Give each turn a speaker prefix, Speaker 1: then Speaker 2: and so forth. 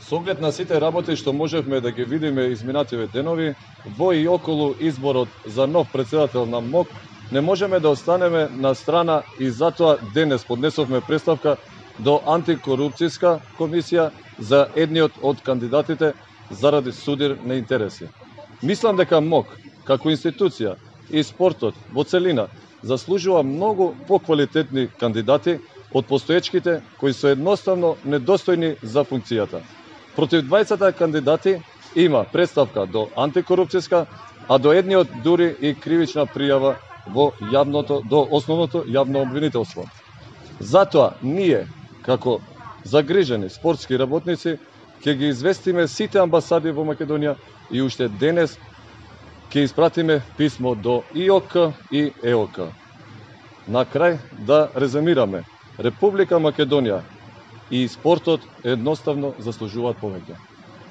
Speaker 1: Со оглед на сите работи што можевме да ги видиме изминативе денови, во и околу изборот за нов претседател на МОК, не можеме да останеме на страна и затоа денес поднесовме представка до антикорупцијска комисија за едниот од кандидатите заради судир на интереси. Мислам дека МОК, како институција и спортот во целина, заслужува многу поквалитетни кандидати од постоечките кои се едноставно недостојни за функцијата. Против двајцата кандидати има представка до антикорупцијска, а до едниот дури и кривична пријава до основното јавно обвинителство. Затоа ние, како загрижени спортски работници, ќе ги известиме сите амбасади во Македонија и уште денес ќе испратиме писмо до ИОК и ЕОК. На крај да резумираме, Република Македонија и спортот едноставно заслужуваат повеќе.